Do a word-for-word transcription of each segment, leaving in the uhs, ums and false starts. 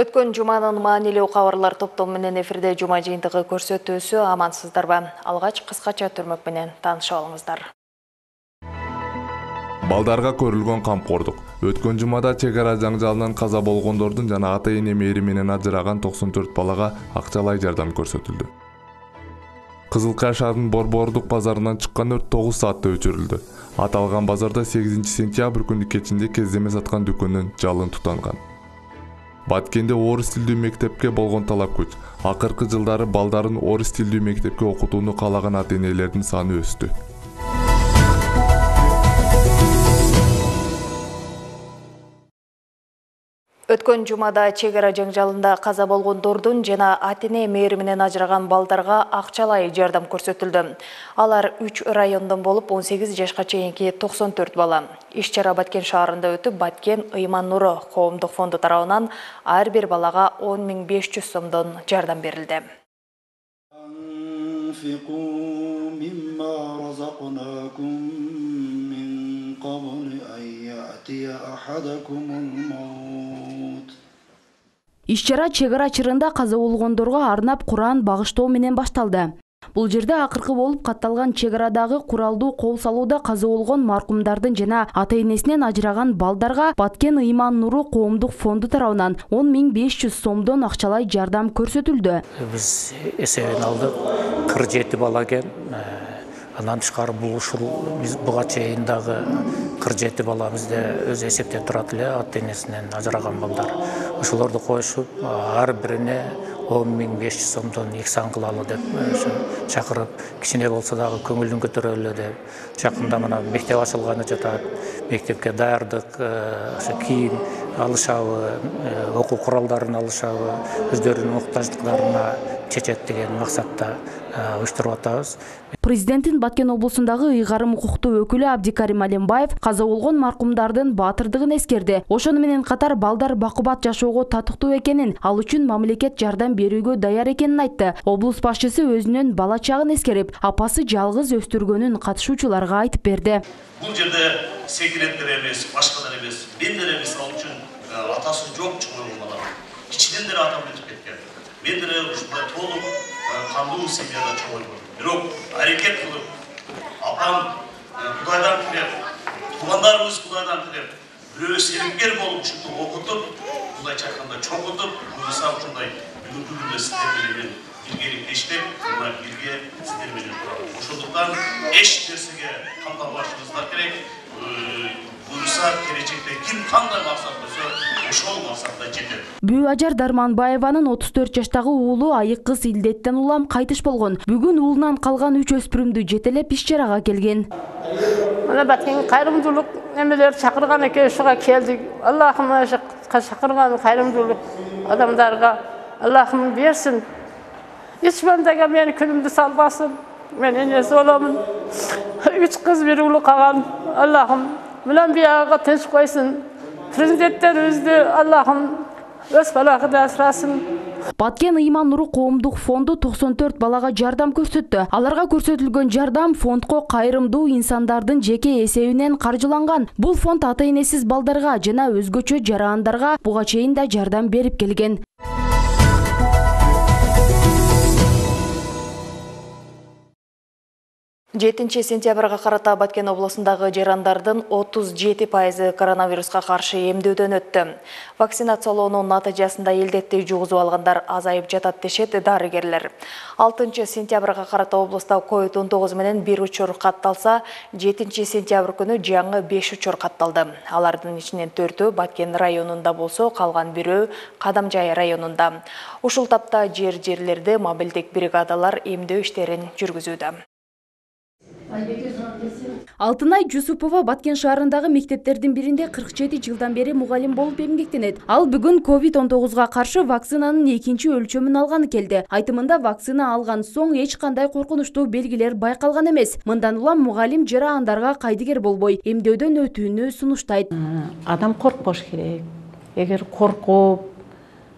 Өткөн жуманын маанилүү кабарлар топтому менен эфирде жума жыйынтыгы көрсөтүүсү амансыздарбы? Алгач кыскача түрмөк менен таанышып алыңыздар. Балдарга көрүлгөн камкордук. Өткөн жумада чек ара жаңжалынан каза болгондордун жана ата-эне мээри менен ажыраган токсон төрт балага акчалай жардам көрсөтүлдү. Кызылкай шаарынын Борбордук базарынан чыккан өрт тогуз саатта өчүрүлдү. Аталган базарда сегизинчи сентябрь күнү кечинде кездеме саткан дүкөндөн жалын тутанган. Баткенде орус тилдүү мектепке болгон талап күч. Акыркы жылдары балдарын орус тилдүү мектепке окутууну каалаган ата-энелердин саны өстү. Өткөн жумада чек ара жаңжалында каза болгондордун жана ата-эне мээри менен ажыраган балдарга акчалай жардам көрсөтүлдү. Алар үч райондон болуп он сегиз жашка чейинки токсон төрт бала. Иш-чара Баткен шаарында өтүп, Баткен Ыйман Нуру коомдук фонду тарабынан ар бир балага он миң беш жүз сомдон жардам берилди. Иш-чара чек ара чырында каза болгондорго арнап Куран багыштоо менен башталды. Бул жерде акыркы болуп катталган чек арадагы куралдуу кол салууда каза болгон маркумдардын жана ата-энесинен ажыраган балдарга Баткен Ыйман Нуру коомдук фонду тарабынан он миң беш жүз сомдон акчалай жардам көрсөтүлдү. Биз эсебин алдык, кырк жети бала экен. Андан тышкары бул ушул биз буга чейин дагы кырк жети бала бизде өз эсепте турат эле, ата-энесинен ажыраган балдар. Ошолорду коюшуп, ар бирине он миң беш жүз сомдон ихсан кылалы деп чакырып, кичине болсо дагы көңүлүн көтөрөлү деп. Жакында мына мектеп ачылганы жатат. Мектепке даярдык, ошо кийим алышабы, окуу куралдарын алышабы, өздөрүнүн муктаждыктарына чечет деген максатта уюштуруп атабыз. Президенттин Баткен облусундагы ыйгарым укуктуу өкүлү Абдикарим Алембаев каза болгон маркумдардын баатырдыгын эскерди. Ошону менен катар балдар бакубат жашоого татыктуу экенин, ал үчүн мамлекет жардам берүүгө даяр экенин айтты. Облус башчысы өзүнүн бала чагын эскерип, апасы жалгыз өстүргөнүн катышуучуларга айтып берди. Бул жерде секреттер эмес, башкалар эмес, мендер эмес, ал үчүн атасы жок чоң балалар. Кичинен деле атам өтүп кеткен. Мен деле ушундай толук кандуу семьяда чоңойдум. Бирок аракет кылып, апам Кудайдан тилеп, туугандарыбыз Кудайдан тилеп, бирөө серингер болуп ушунтип окутуп, мындайча айтканда чоңотуп, буюрса ушундай бүгүнкү күндө сиздер менен биргеликте иштеп, мына бирге сиздер менен турабыз. Ошондуктан эч нерсеге камданбашыңыздар керек. Буюрса келечекте ким кандай максат койсо, ошол максатка жетет. Бүү Ажар Дарманбаеванын отуз төрт жаштагы уулу айык кыз илдеттен улам кайтыш болгон. Бүгүн уулунан калган үч өспүрүмдү жетелеп иш-чарага келген. Мына Баткен кайрымдуулук немелер чакырган экен, ушуга келдик. Аллахым ошо чакырган кайрымдуулук адамдарга Аллахым берсин. Эч бандага мени күнүмдү салбасын. Мен энеси боломун. Үч кыз бир уулу калган. Аллахым Милан бияга тынч койсун. Президенттерибизди Аллахым өз балагыда асрасын. Баткен Ыйман Нуру коомдук фонду токсон төрт балага жардам көрсөттү. Аларга көрсөтүлгөн жардам фондко кайрымдуу инсандардын жеке эсебинен каржыланган. Бул фонд ата-энесиз балдарга жана өзгөчө жарандарга буга чейин да жардам берип келген. жетинчи сентябрга карата Баткен облусундагы жарандардын отуз жети пайызы коронавируска каршы эмдөөдөн өттү. Вакцинациялоонун натыйжасында илдетти жугузуп алгандар азайып жатат дешет дарыгерлер. алтынчы сентябрга карата облуста ковид он тогуз менен бир учур катталса, жетинчи сентябрь күнү жаңы беш учур катталды. Алардын ичинен төртөө Баткен районунда болсо, калган бирөө Кадамжай районунда. Ушул тапта жер-жерлерде мобилдик бригадалар эмдөө иштерин жүргүзүүдө. Алтынай Жусупова Баткен шаарындагы мектептердин биринде кырк жети жылдан бери мугалим болуп эмгектенет. Ал бүгүн ковид он тогузга каршы вакцинанын экинчи өлчөмүн алганы келди. Айтымында вакцина алган соң эч кандай коркунучтуу белгилер байкалган эмес. Мындан улам мугалим жарандарга кайдыгер болбой эмдөөдөн өтүүнү сунуштайт. Адам коркпош керек. Эгер коркуп,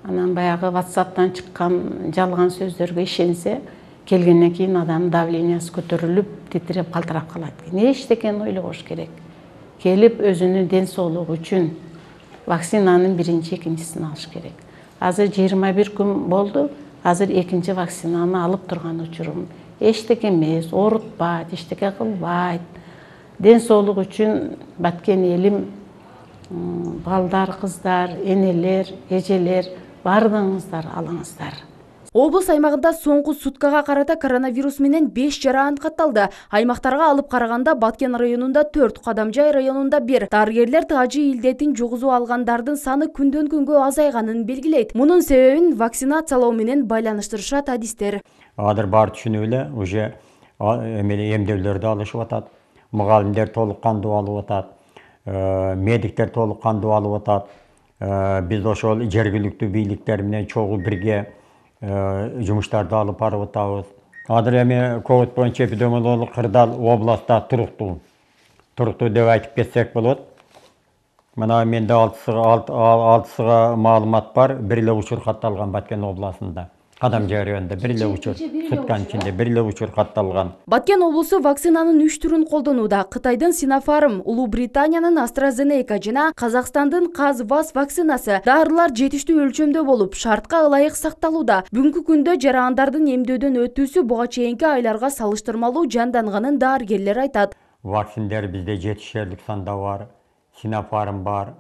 анан баягы WhatsApp'тан чыккан жалган сөздөргө ишенсе, келгенден кийин адам давлениясы көтөрүлүп, титиреп калтырап калат. Не эчтекени ойлобош керек. Келип өзүнүн ден соолугу үчүн вакцинанын биринчи экинчисин алыш керек. Азыр жыйырма бир күн болду. Азыр экинчи вакцинаны алып турган учурум. Эчтеке эмес, оорутпайт, эчтеке кылбайт. Ден соолук үчүн баткен элим, балдар, кыздар, энелер, эжелер бардыгыңыздар алыңыздар. Облус аймагында соңку суткага карата коронавирус менен беш жара анықталды. Аймактарга алып караганда Баткен районунда төрт, Кадамжай районунда бир. Дарыгерлер тажы илдетин жугузуп алгандардын саны күндөн күнгө азайганын белгилейт. Мунун себебин вакцинациялоо менен байланыштырышат адистер. Азыр бар түшүнүп эле уже эмделерди алышып атат. Мугалимдер толук кандуу алып атат. Медиктер толук кандуу алып атат. Биз ошол жергиликтүү бийликтер менен чогуу бирге жумуштарды алып барып атабыз. Азыр эми ковид боюнча эпидемиологиялык кырдаал областта туруктуу. Туруктуу деп айтып кетсек болот. Мына менде алтысыга маалымат бар. Бир эле учур катталган Баткен областында. Кадамжай районунда бир эле учур, сутканын ичинде бир эле учур катталган. Баткен облусу вакцинанын үч түрүн колдонууда. Кытайдын Sinopharm, Улуу Британиянын AstraZeneca жана Казакстандын Казвас вакцинасы. Дарылар жетиштүү өлчөмдө болуп, шартка ылайык сакталууда. Бүгүнкү күндө жарандардын эмдөөдөн өтүүсү буга чейинки айларга салыштырмалуу жанданганын дарыгерлер айтат. Вакциндер бизде жетишерлик санда бар. Sinopharm бар.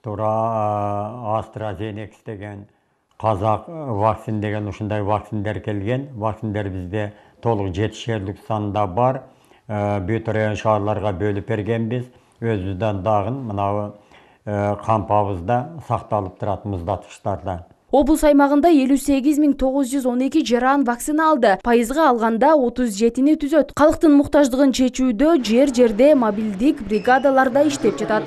Тура AstraZeneca деген Казак вакцин деген ушундай вакциндер келген. Вакциндер бизде толук жетишерлик санда бар. Бүт район шаарларга бөлүп бергенбиз. Өзүбүздөн дагы мына кампабызда сакталып турат муздаткычтарда. Облус аймагында элүү сегиз миң тогуз жүз он эки жаран вакцина алды. Пайызга алганда отуз жетини түзөт. Калктын муктаждыгын чечүүдө жер-жерде мобилдик бригадаларда иштеп жатат.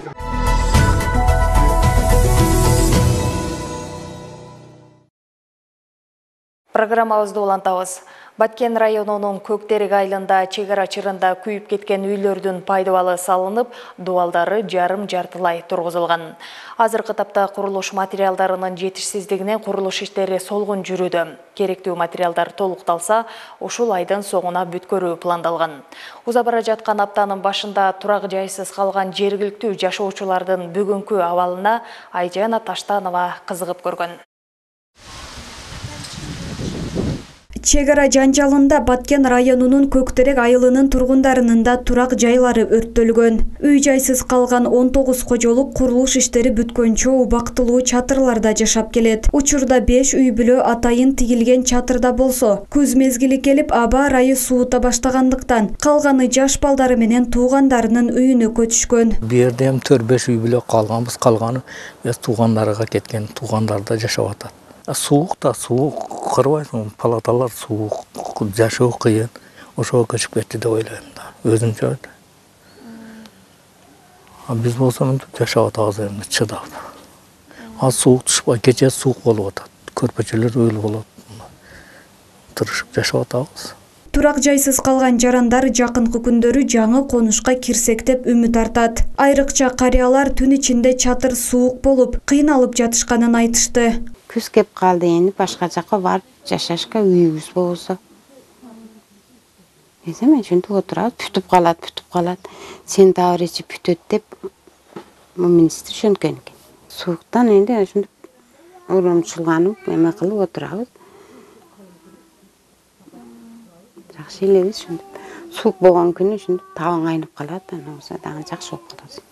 Программабызды улантабыз. Баткен районунун Көктерек айылында чек ара чырында күйүп кеткен үйлөрдүн пайдабалы салынып, дубалдары жарым жартылай тургузулган. Азыркы тапта курулуш материалдарынын жетишсиздигинен курулуш иштери солгун жүрүүдө. Керектүү материалдар толукталса, ушул айдын соңуна бүткөрүү пландалган. Уза бара жаткан аптанын башында турак жайсыз калган жергиликтүү жашоочулардын бүгүнкү абалына Айжана Таштанова кызыгып көргөн. Чек ара жанжалында Баткен районунун Көктерек айылынын тургундарынын да турак жайлары өрттөлгөн. Үй жайсыз калган он тогуз кожолук курулуш иштери бүткөнчө убактылуу чатырларда жашап келет. Учурда беш үй бүлө атайын тигилген чатырда болсо, күз мезгили келип аба ырайы суута баштагандыктан калганы жаш балдары менен туугандарынын үйүнө көчүшкөн. Бу жерде эми төрт беш үй бүлө калганбыз, калганы өз туугандарга кеткен, туугандарда жашап атат. Суук да, суук кырбайсың, палаталар суук, жашоо кыйын. Ошого көчүп кетти деп ойлойм да, өзүнчө. А биз болсо мынтип жашап атабыз эми чыдап. А суук түшпөй, кече суук болуп атат. Көрпөчөлөр өл болот. Тырышып жашап атабыз. Турак жайсыз калган жарандар жакынкы күндөрү жаңы конушка кирсек деп үмүт артат. Айрыкча карыялар түн ичинде чатыр суук болуп, кыйналып жатышканын айтышты. Күз кеп калды, эми башка жакка барып жашашка үйүбүз болсо. Эсем ушинтип отурабыз, бүтүп калат, бүтүп калат. Сентябрь ичи бүтөт деп министр ошенткен экен. Сууктан энди ушинтип урамчылганып, эме кылып отурабыз. Жакшы элебиз ушинтип. Суук болгон күнү ушинтип табың айнып калат, анан болсо дагы жакшы болуп калат.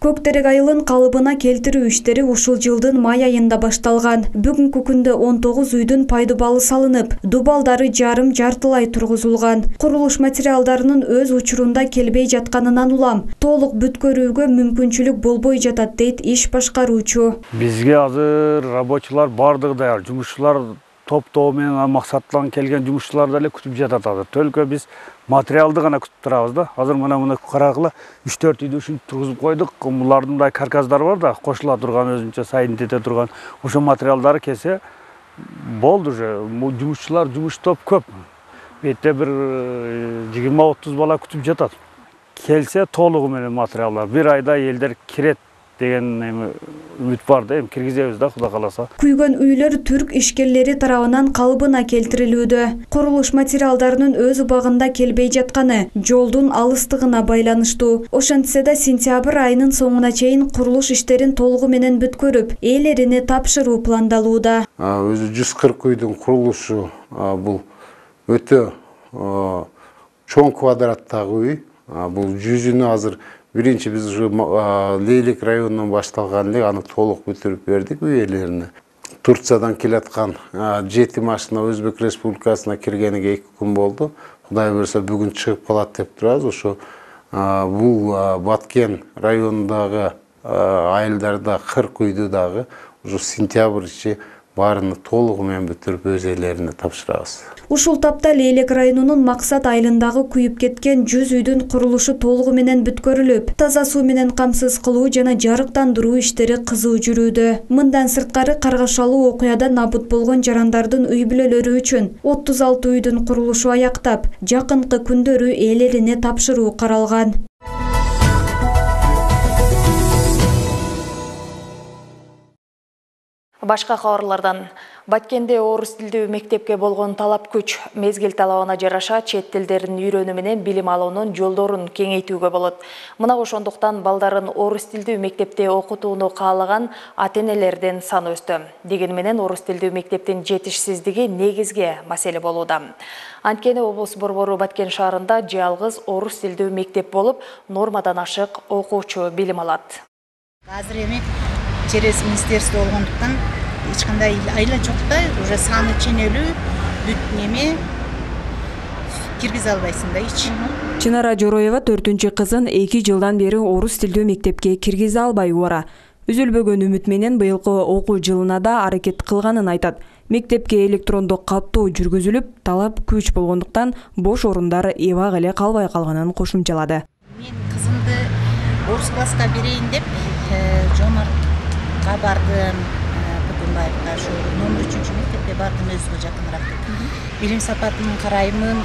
Көктерек айылын калыбына келтирүү иштери ушул жылдын май айында башталган. Бүгүнкү күндө он тогуз үйдүн пайдабалы салынып, дубалдары жарым жартылай тургузулган. Курулуш материалдарынын өз учурунда келбей жатканынан улам толук бүткөрүүгө мүмкүнчүлүк болбой жатат дейт иш башкаруучу. Бизге азыр рабочулар бардыгы даяр, жумушчулар топтоо менен максаттан келген жумушчулар деле күтүп жатат азыр. Төлкө биз материалды гана күтүп турабыз да. Азыр мына мына карагыла үч төрт үйдү ушинтип тургузуп койдук. Булардын мындай карказдар бар да, кошула турган өзүнчө сайын тете турган. Ошо материалдары келсе болду уже. Жумушчулар, жумуш топ көп. Бетте бир жыйырма отуз бала күтүп жатат. Келсе толугу менен материалдар. Бир айда элдер кирет деген эми үмүт бар да, эми киргизебиз да, Кудай кааласа. Күйгөн үйлөр түрк ишкерлери тарабынан калыбына келтирилүүдө. Курулуш материалдарынын өз убагында келбей жатканы жолдун алыстыгына байланыштуу. Ошентсе да сентябрь айынын соңуна чейин курулуш иштерин толугу менен бүткөрүп, ээлерине тапшыруу пландалууда. Өзү жүз кырк үйдүн курулушу бул өтө чоң квадраттагы үй. Бул жүзүнө азыр биринчи биз уже Лейлек районунан башталган эле, аны толук бүтүрүп бердик үй ээлерине. Турциядан келаткан жети машина Өзбек Республикасына киргениге эки күн болду. Кудай буюрса бүгүн чыгып калат деп турабыз. Ошо бул Баткен районундагы айылдарда кырк үйдү дагы ушу сентябрь ичи баарыны толугу менен бүтүрүп өз ээлерине тапшырабыз. Ушул тапта Лейлек районунун Максат айылындагы күйүп кеткен жүз үйдүн курулушу толугу менен бүткөрүлүп, таза суу менен камсыз кылуу жана жарыктандыруу иштери кызуу жүрүүдө. Мындан сырткары каргашалуу окуядан набут болгон жарандардын үй бүлөлөрү үчүн отуз алты үйдүн курулушу аяктап, жакынкы күндөрү ээлерине тапшыруу каралган. Башка кабарлардан Баткенде орус тилдүү мектепке болгон талап күч. Мезгил талабына жараша чет тилдерин үйрөнүү менен билим алуунун жолдорун кеңейтүүгө болот. Мына ошондуктан балдарын орус тилдүү мектепте окутууну каалаган ата-энелердин саны өстү. Деген менен орус тилдүү мектептин жетишсиздиги негизги маселе болууда. Анткени облус борбору Баткен шаарында жалгыз орус тилдүү мектеп болуп, нормадан ашык окуучу билим алат. Азыр эми через министерство болгондуктан эч кандай айла жок да, уже саны ченелүү бүт неме киргизе албайсың да эч. Чынара Жороева төртүнчү кызын эки жылдан бери орус тилдүү мектепке киргизе албай убара. Үзүлбөгөн үмүт менен быйылкы окуу жылына да аракет кылганын айтат. Мектепке электрондук каттоо жүргүзүлүп, талап күч болгондуктан бош орундар эбак эле калбай калганын кошумчалады. Мен кызымды орус класска берейин деп Жомартка бардым, Бүкүнбаевка, ошо номер үчүнчү мектепке бардым, өзүгө жакыныраак деп. Билим сапатын караймын,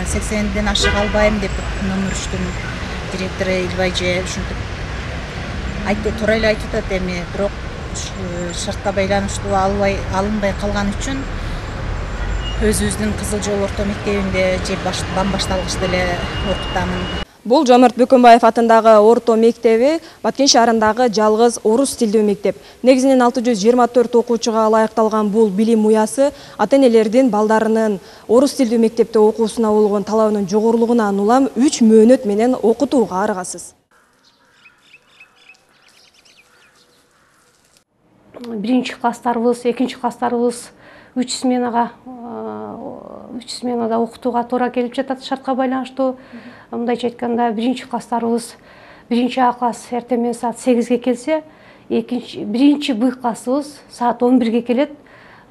сексенден ашык албайм деп номер үчтүн директору Илбайже ушинтип айтты, туура эле айтып атат эми, бирок шартка байланыштуу албай алынбай калган үчүн өзүбүздүн Кызыл Жол орто мектебинде же бам башталгычта эле окутамын. Бул Жомарт Бүкүнбаев атындагы орто мектеби Баткен шаарындагы жалгыз орус тилдүү мектеп. Негизинен алты жүз жыйырма төрт окуучуга ылайыкталган бул билим уясы ата-энелердин балдарынын орус тилдүү мектепте окуусуна болгон талабынын жогорулугунан улам үч мөөнөт менен окутууга аргасыз. Биринчи класстарыбыз, экинчи класстарыбыз үч сменага үч сменада окутууга туура келип жатат шартка байланыштуу. Мындайча айтканда, биринчи класстарыбыз биринчи А класс эртемен саат сегизге келсе, экинчи биринчи Б классыбыз саат он бирге келет.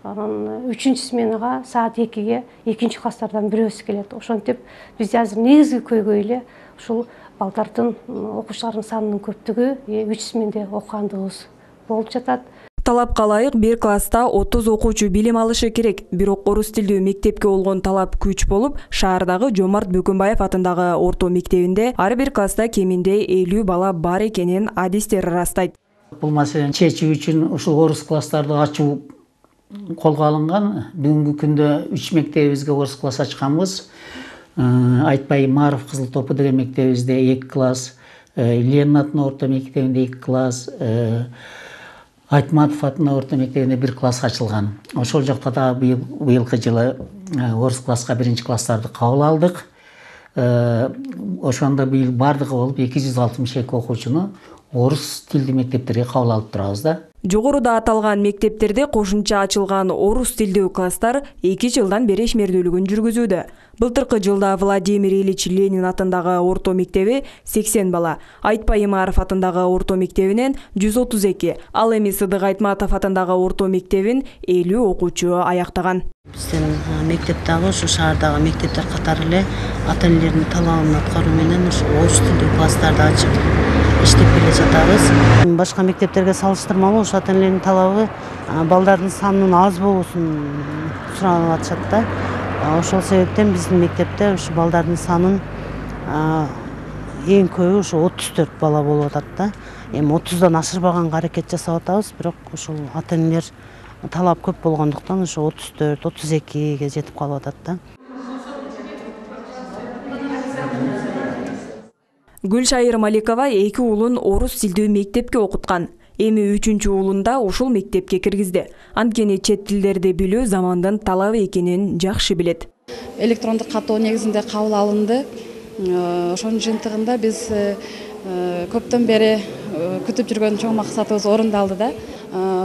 Анан үчүнчү сменага саат экиге экинчи класстардан бирөөсү келет. Ошентип бизде азыр негизги көйгөй эле ушул балдардын окуучулардын санынын көптүгү үч сменде окугандыгыбыз болуп жатат. Талапка ылайык бир класста отуз окуучу билим алышы керек. Бирок орус тилдүү мектепке болгон талап күч болуп, шаардагы Жомарт Бүкүнбаев атындагы орто мектебинде ар бир класста кеминде элүү бала бар экенин адистер ырастайт. Бул маселени чечүү үчүн ушул орус класстарды ачуу колго алынган. Бүгүнкү күндө үч мектебибизге орус класс ачканбыз. Айтпай Маров Кызыл Топу деген мектебибизде эки класс, Ленин атынын орто мектебинде эки класс, Айтматов атынын орто мектебинде бир класс ачылган. Ошол жакта да быйылкы жылы орус класска биринчи класстарды кабыл алдык. Ошондо быйыл бардыгы болуп эки жүз алтымыш эки окуучуну орус тилдүү мектептерге кабыл алып турабыз да. Жогоруда аталган мектептерде кошумча ачылган орус тилдүү класстар эки жылдан бери ишмердүүлүгүн жүргүзүүдө. Былтыркы жылда Владимир Ильич Ленин атындагы орто мектеби сексен бала, Айтпай Имаров атындагы орто мектебинен жүз отуз эки, ал эми Сыдык Айтматов атындагы орто мектебин элүү окуучу аяктаган. Биздин мектеп дагы ушу шаардагы мектептер катары эле ата-энелердин талабын аткаруу менен ушу орус тилдүү класстарды ачып иштеп келе жатабыз. Башка мектептерге салыштырмалуу ушу ата-энелердин талабы балдардын санынын аз болуусун сурап атышат да. Ошол себептен биздин мектепте ушу балдардын санын эң көбү ушу отуз төрт бала болуп атат да. Эми отуздан ашырбаганга аракет жасап атабыз, бирок ушул ата-энелер талап көп болгондуктан ушу отуз төрт отуз экиге жетип калып атат да. Гүлшайыр Маликова эки уулун орус тилдүү мектепке окуткан. Эми үчүнчү уулунда ушул мектепке киргизди. Анткени чет тилдерди билүү замандын талабы экенин жакшы билет. Электрондук каттоо негизинде кабыл алынды. Ошонун жыйынтыгында биз көптөн бери күтүп жүргөн чоң максатыбыз орундалды да.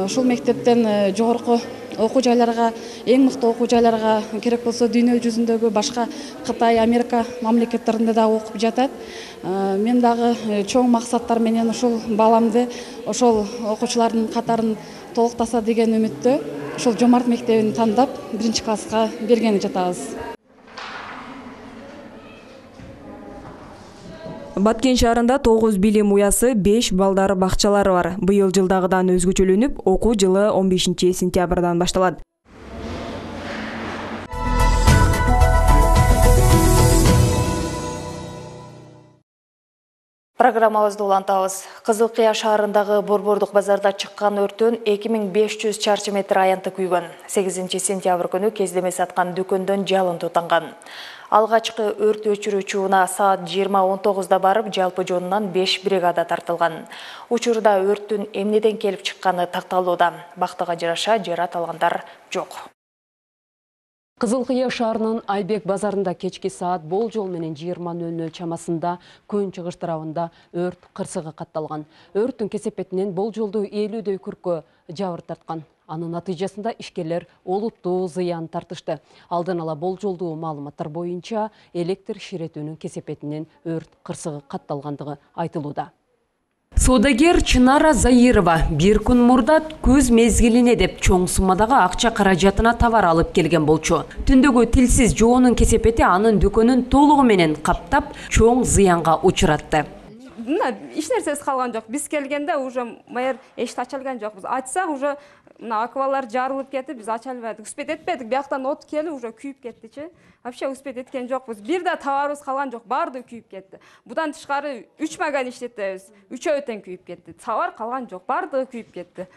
Ушул мектептен жогорку окуу жайларга, эң мыкты окуу жайларга, керек болсо дүйнө жүзүндөгү башка Кытай, Америка мамлекеттеринде да окуп жатат. Мен дагы чоң максаттар менен ушул баламды ошол окуучулардын катарын толуктаса деген үмүттө ушул Жомарт мектебин тандап биринчи класска бергени жатабыз. Баткен шаарында тогуз билим уясы, беш балдар бакчалары бар. Быйыл жылдагыдан өзгөчөлөнүп, окуу жылы он бешинчи сентябрдан башталат. Программабызды улантабыз. Кызыл Кыя шаарындагы Борбордук базарда чыккан өрттөн эки миң беш жүз чарчы метр аянты күйгөн. сегизинчи сентябрь күнү кездеме саткан дүкөндөн жалын тутанган. Алгачкы өрт өчүрүүчү унаа саат жыйырма он тогузда барып, жалпы жонунан беш бригада тартылган. Учурда өрттүн эмнеден келип чыкканы такталууда. Бактыга жараша жарат алгандар жок. Кызыл Кыя шаарынын Айбек базарында кечки саат болжол менен жыйырма нөл нөл чамасында көн чыгыш тарабында өрт кырсыгы катталган. Өрттүн кесепетинен болжолду элүүдөй күркө жабыр тарткан. Анын натыйжасында ишкерлер олуттуу зыян тартышты. Алдын ала болжолдуу маалыматтар боюнча электр ширетүүнүн кесепетинен өрт кырсыгы катталгандыгы айтылууда. Содагер Чынара Заирова бир күн мурда көз мезгилине деп чоң суммадагы акча каражатына товар алып келген болчу. Түндөгү тилсиз жоонун кесепети анын дүкөнүн толугу менен каптап, чоң зыянга учуратты. Мына эч нерсеси калган жок. Биз келгенде уже майыр эшикти ача алган жокпуз. Ачсак уже мына аквалар жарылып кетип, биз ача албадык. Успет этпедик. Бияктан от келип уже күйүп кеттичи. Вообще успет эткен жокпуз. Бир да товарыбыз калган жок. Баардыгы күйүп кетти. Будан тышкары үч магазин иштетебиз. Үчөө тең күйүп кетти. Товар калган жок. Баардыгы күйүп кетти.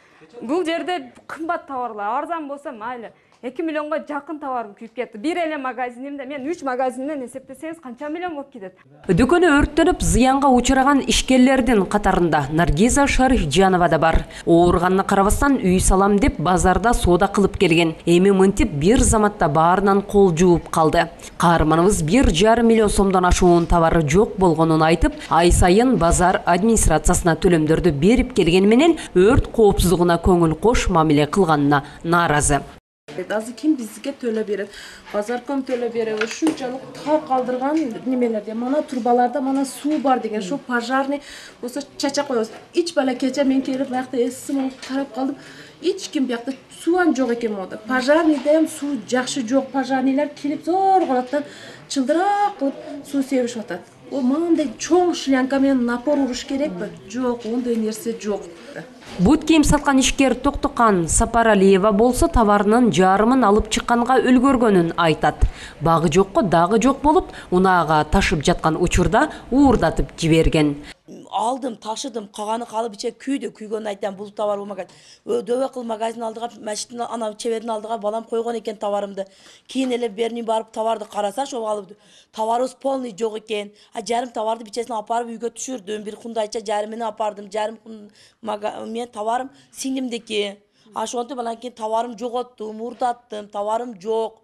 Бул жерде кымбат товарлар, арзан болсо майли. эки миллионго жакын товарым күйүп кетти. Бир эле магазинимде мен үч магазинден эсептесеңиз канча миллион болуп кетет. Дүкөнү өрттөнүп, зыянга учураган ишкерлердин катарында Наргиза Шарифжанова да бар. Ооруганына карабастан үй салам деп базарда соода кылып келген. Эми мынтип бир заматта баарынан кол жууп калды. Каарманыбыз бир жарым миллион сомдон ашуун товары жок болгонун айтып, ай сайын базар администрациясына төлөмдөрдү берип келгени менен өрт коопсуздугуна көңүл кош мамиле кылганына нааразы. Азыр ким бизге төлө берет? Базарком төлө берет. Ушунчалык таа калдырган немелерде, мана турбаларда мана суу бар деген, ошо пожарный болсо чача коебуз. Эч бала кече мен келип биякта эсим алып карап калдым. Эч ким биякта суан жок экен мода. Пожарныйда ham суу жакшы жок. Пожарныйлар келип зор калаттан чылдырак кылып суу себишип атат. О, мындай чоң шлянка менен напор уруш керекпи? Жок, ондай нерсе жок. Бут кийим саткан ишкер Токтокан Сапаралиева болсо товарынын жарымын алып чыкканга үлгөргөнүн айтат. Багы жокко дагы жок болуп, унаага ташып жаткан учурда уурдатып жиберген. Алдым, ташыдым, каганы калып иче күйдү, күйгөнүн айтам, бул товар болмаган. Дөбө кыл магазин алдыга, машиктин ана чебердин алдыга балам койгон экен товарымды. Кийин эле берни барып товарды караса, ошо алып товарыбыз полный жок экен. А жарым товарды бичесине алып барып үйгө түшүрдүм. Бир кундайча жарымын апардым. Жарым мен товарым сиңдимдики. Ошонтип анан кийин товарым жоготтум, уурдаттым, товарым жок.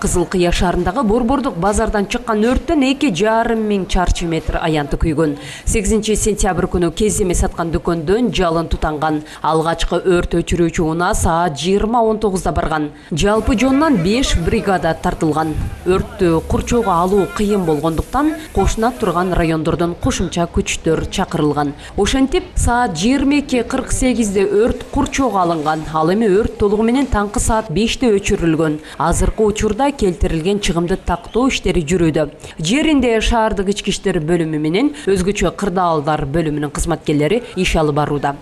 Кызыл Кыя шаарындагы Борбордук базардан чыккан өрттөн эки жарым миң чарчы метр аянты күйгөн. сегизинчи сентябрь күнү кездеме саткан дүкөндөн жалын тутанган. Алгачкы өрт өчүрүүчү унаа саат жыйырма он тогузда барган. Жалпы жонунан беш бригада тартылган. Өрттү курчоого алуу кыйын болгондуктан кошуна турган райондордон кошумча күчтөр чакырылган. Ошентип саат жыйырма эки кырк сегизде өрт курчоого алынган. Ал эми өрт толугу менен таңкы саат беште өчүрүлгөн. Азыркы учурда келтирилген чыгымды тактоо иштери жүрүүдө. Жеринде шаардык ички иштер бөлүмү менен өзгөчө кырдаалдар бөлүмүнүн кызматкерлери иш алып барууда.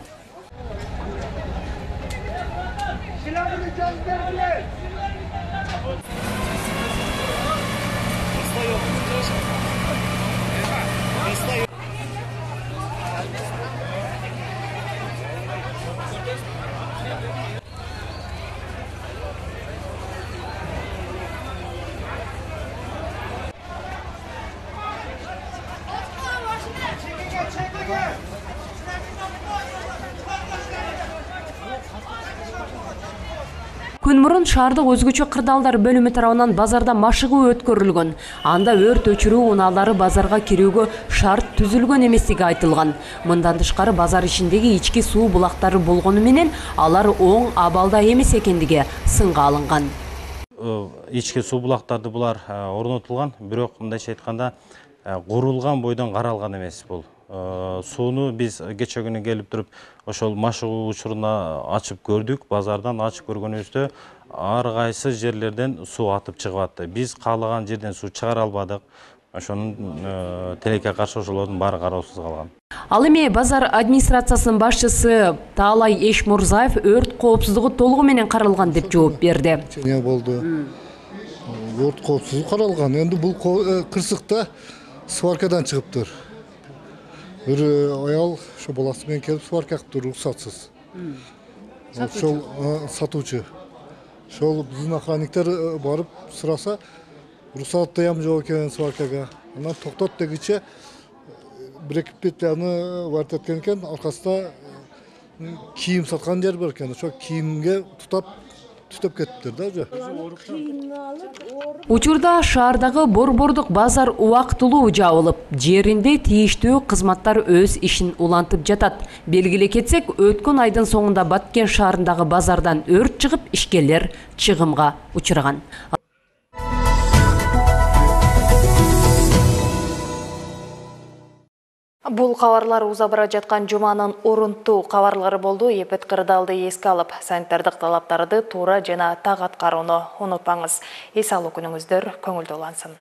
Күн мурун шаардык өзгөчө кырдаалдар бөлүмү тарабынан базарда машыгуу өткөрүлгөн. Анда өрт өчүрүү унаалары базарга кирүүгө шарт түзүлгөн эместиги айтылган. Мындан тышкары базар ичиндеги ички суу булактары болгону менен алар оң абалда эмес экендиги сынга алынган. Ички суу булактарды булар орнотулган, бирок мындайча айтканда курулган бойдон каралган эмес бул. Сууну биз кече күнү келип туруп ошол машыгуу учуруна ачып көрдүк. Базардан ачып көргөнүбүздө ар кайсы жерлерден суу атып чыгып атты. Биз каалаган жерден суу чыгара албадык. Ошонун тилекке каршы ошолордун баары кароосуз калган. Ал эми базар администрациясынын башчысы Таалай Эшмурзаев өрт коопсуздугу толугу менен каралган деп жооп берди. Болду. Өрт коопсуздугу каралган. Эми бул кырсыкта сваркадан чыгыптыр. Бир аял ошо баласы менен келип сварка кылыптыр уруксатсыз. Ошол сатуучу. Ошол биздин охранниктер барып сураса, уруксаттыям жок экен сваркага. Анан токтот дегиче бир эки петляны варт эткен экен, аркасында кийим саткан жер бар экен. Ошо кийимге тутап түтөп кетиптир да уже. Учурда шаардагы борбордук базар убактылуу жабылып, жеринде тийиштүү кызматтар өз ишин улантып жатат. Белгилей кетсек, өткөн айдын соңунда Баткен шаарындагы базардан өрт чыгып, ишкерлер чыгымга учураган. Бул кабарлар уза бара жаткан жуманын орунтуу кабарлары болду. Эпет кырдаалды эске алып, санитардык талаптарды туура жана так аткарууну унутпаңыз. Эс алуу күнүңүздөр көңүлдүү улансын.